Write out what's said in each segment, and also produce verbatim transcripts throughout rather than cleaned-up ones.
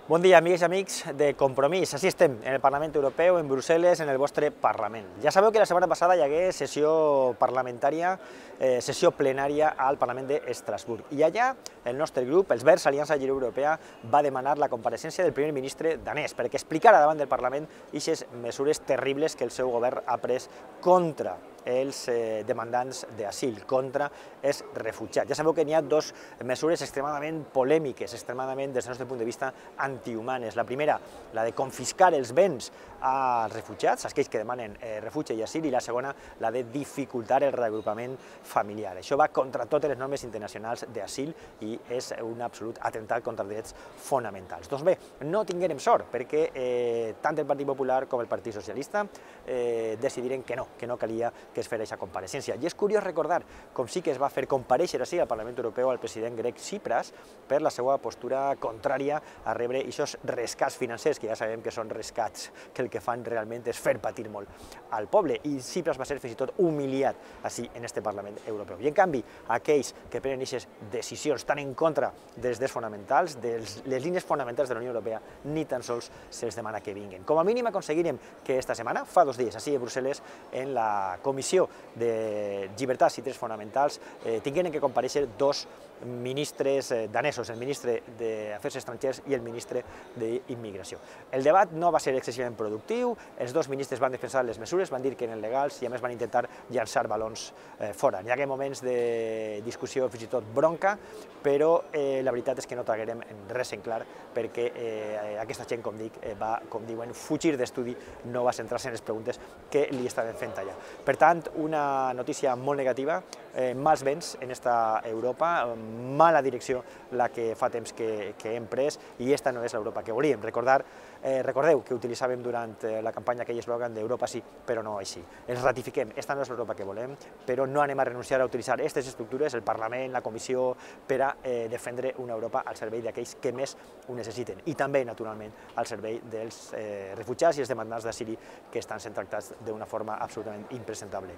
Bon dia, amigues i amics de Compromís. Així estem, en el Parlament Europeu, en Brussel·les, en el vostre Parlament. Ja sabeu que la setmana passada hi hagué sessió parlamentària, eh, sessió plenària al Parlament d'Estrasburg. I allà el nostre grup, els Verds, Aliança Lliure Europea, va demanar la compareixença del primer ministre danès perquè explicara davant del Parlament aquestes mesures terribles que el seu govern ha pres contra els eh, demandants d'asil, contra els refugiats. Ja sabeu que n'hi ha dues mesures extremadament polèmiques, extremadament, des del nostre punt de vista, antihumanes. La primera, la de confiscar els béns als refugiats, aquells que demanen eh, refugi i asil, i la segona, la de dificultar el reagrupament familiar. Això va contra totes les normes internacionals d'asil i és un absolut atemptat contra els drets fonamentals. Doncs bé, no tinguérem sort, perquè eh, tant el Partit Popular com el Partit Socialista eh, decidiren que no, que no calia que es fes aquesta compareixença. I és curiós recordar com sí que es va fer comparèixer així al Parlament Europeu al president grec Tsipras per la seva postura contrària a rebre aquests rescats financers, que ja sabem que són rescats que el que fan realment és fer patir molt al poble. I Tsipras va ser fins i tot humiliat així en este Parlament Europeu. I en canvi, aquells que prenen aquestes decisions tan en contra dels drets fonamentals, de les línies fonamentals de la Unió Europea, ni tan sols se'ls demana que vinguin. Com a mínim aconseguirem que esta setmana, fa dos dies, així a Brussel·les, en la Comissió de Llibertats i Drets Fonamentals, eh, tingueren que comparèixer dos ministres eh, danesos, el ministre d'Afers Estrangers i el ministre d'Immigració. El debat no va ser excessivament productiu, els dos ministres van defensar les mesures, van dir que eren legals i a més van intentar llançar balons eh, fora. Hi hagué moments de discussió, fins i tot bronca, però eh, la veritat és que no traguérem res en clar perquè eh, aquesta gent, com dic, eh, va, com diuen, fugir d'estudi, no va centrar-se en les preguntes que li estaven fent allà. Per tant, una notícia molt negativa, eh, mals vents en esta Europa, mala direcció la que fa temps que, que hem pres, i esta no és l'Europa que volíem. Recordar, eh, recordeu que utilitzàvem durant la campanya aquell eslògan d'Europa sí, però no així. Ens ratifiquem, esta no és l'Europa que volem, però no anem a renunciar a utilitzar aquestes estructures, el Parlament, la Comissió, per a eh, defendre una Europa al servei d'aquells que més ho necessiten, i també, naturalment, al servei dels eh, refugiats i els demandants d'asil que estan sent tractats d'una forma absolutament impresentable.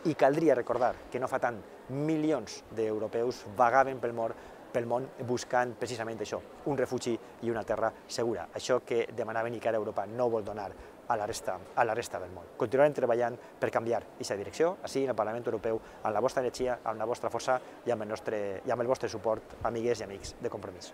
I caldria recordar que no fa tant milions d'europeus vagaven pel món, pel món buscant precisament això, un refugi i una terra segura. Això que demanaven i que ara Europa no vol donar a la resta, a la resta del món. Continuarem treballant per canviar aquesta direcció, així en el Parlament Europeu, amb la vostra energia, amb la vostra força i amb el, nostre, i amb el vostre suport, amigues i amics de Compromís.